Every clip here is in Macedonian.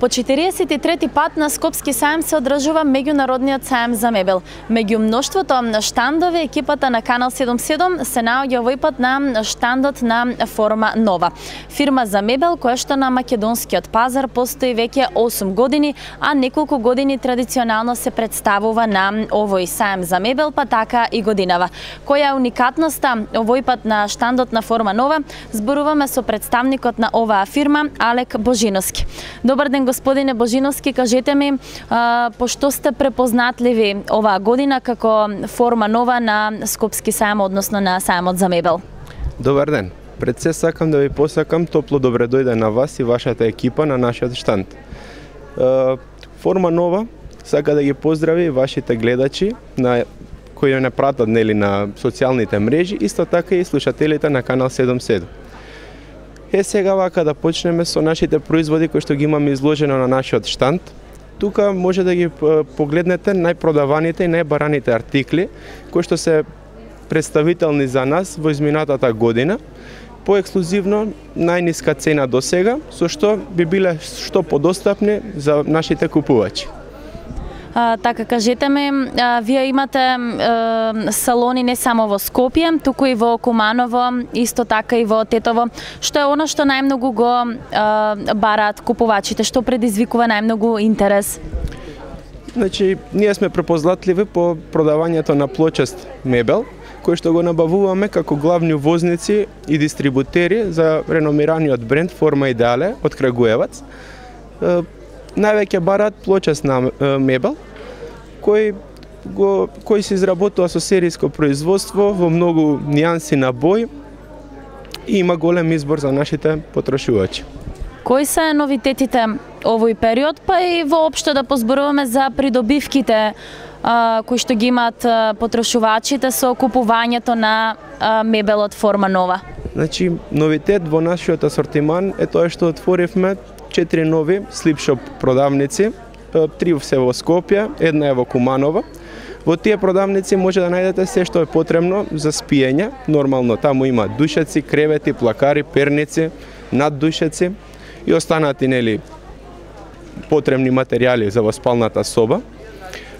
По 43-ти пат на Скопски саем се одржува меѓународниот саем за мебел. Меѓу мноштвото на штандови, екипата на Канал 77 се наоѓа овој пат на штандот на Форма Нова. Фирма за мебел која што на македонскиот пазар постои веќе 8 години, а неколку години традиционално се представува на овој саем за мебел, па така и годинава. Која е уникатноста овој пат на штандот на Форма Нова? Зборуваме со представникот на оваа фирма, Алек Божиновски. Добар ден, господине Божиновски, кажете ми, пошто сте препознатливи оваа година како Форма Нова на Скопски саем, односно на саемот за мебел? Добар ден. Пред се сакам да ви посакам топло добре дојде на вас и вашата екипа на нашиот штанд. Форма Нова сака да ги поздрави вашите гледачи кои не пратат на социјалните мрежи, исто така и слушателите на Канал 77. Сега вака да почнеме со нашите производи кои што ги имаме изложено на нашиот штанд. Тука може да ги погледнете најпродаваните и најбараните артикли кои што се представителни за нас во изминатата година. Поексклузивно најниска цена до сега, со што би биле што подостапни за нашите купувачи. Така, кажете ми, вие имате салони не само во Скопје, туку и во Куманово, исто така и во Тетово. Што е она што најмногу го бараат купувачите, што предизвикува најмногу интерес? Значи, ние сме препознатливи по продавањето на плочест мебел, кој што го набавуваме како главни возници и дистрибутери за реномираниот бренд Форма Идеале од Крагуевац. Највеќе бараат плочесна мебел, кој се изработува со серијско производство во многу нијанси на бој и има голем избор за нашите потрошувачи. Кои се новитетите овој период, па и воопшто да позборуваме за придобивките кои што ги имаат потрошувачите со купувањето на мебелот Форма Нова? Значи, новитет во нашиот асортиман е тоа што отворивме 4 нови слипшоп продавници, 3 се во Скопје, една е во Куманово. Во тие продавници може да најдете се што е потребно за спиење. Нормално таму има душеци, кревети, плакари, перници, наддушеци и останати потребни материјали за во спалната соба.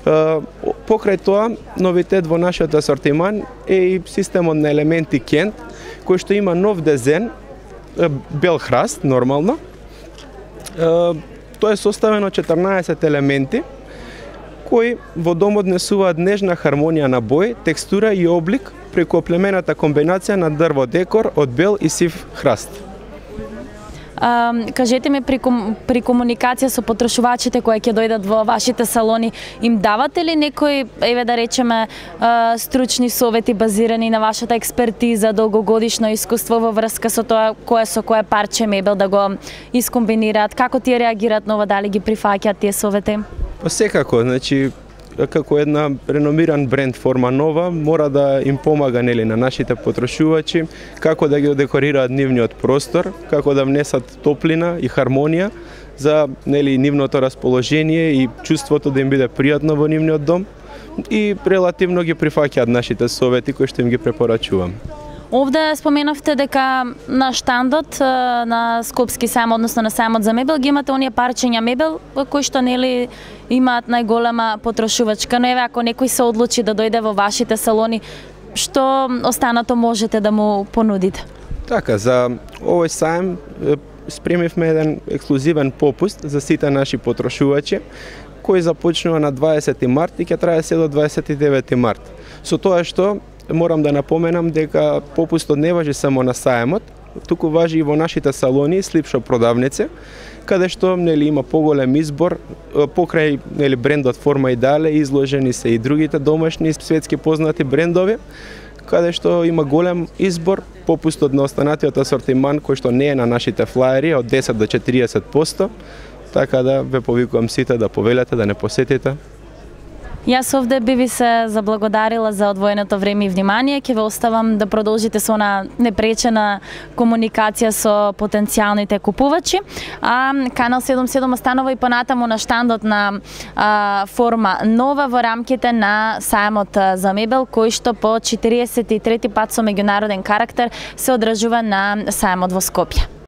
Покрај тоа, новитет во нашиот асортиман е и системот на елементи Кент, кој што има нов дизајн, бел храст, нормално. Тоа е составено 14 елементи кои во домот несуваат нежна хармонија на бој, текстура и облик преку оплемената комбинација на дрво декор од бел и сив храст. Кажете ми, при комуникација со потрошувачите кои ќе дојдат во вашите салони, им давате ли некои, еве да речеме, стручни совети базирани на вашата експертиза, долгогодишно искуство во врска со тоа со кое парче мебел да го искомбинираат? Како тие реагираат на ова, дали ги прифаќаат тие совети? Секако, значи како една реномиран бренд Форма Нова мора да им помага на нашите потрошувачи како да ги декорираат нивниот простор, како да внесат топлина и хармонија за нивното расположение и чувството да им биде пријатно во нивниот дом, и релативно ги прифаќаат нашите совети кои што им ги препорачувам. Овде споменавте дека на штандот на Скопски саем, односно на саемот за мебел, ги имате оние парчења мебел кои што имаат најголема потрошувачка. Но еве, ако некој се одлучи да дојде во вашите салони, што останато можете да му понудите? Така, за овој саем спремивме еден ексклузивен попуст за сите наши потрошувачи, кој започнува на 20 март и ќе трае се до 29 март. Со тоа што морам да напоменам дека попустот не важи само на саемот, туку важи и во нашите салони и слипшоп продавници, каде што има поголем избор покрај брендот Форма Идеале, изложени се и другите домашни светски познати брендови, каде што има голем избор, попустот на останатиот асортиман кој што не е на нашите флаери од 10 до 40%, така да ве повикувам сите да повелете, да не посетите. Јас овде би ви се заблагодарила за одвоеното време и внимание. Ќе ве оставам да продолжите со она непречена комуникација со потенцијалните купувачи. А Канал 77 останува и понатаму на штандот на Форма Нова во рамките на саемот за мебел, кој што по 43 пат со меѓународен карактер се одржува на саемот во Скопје.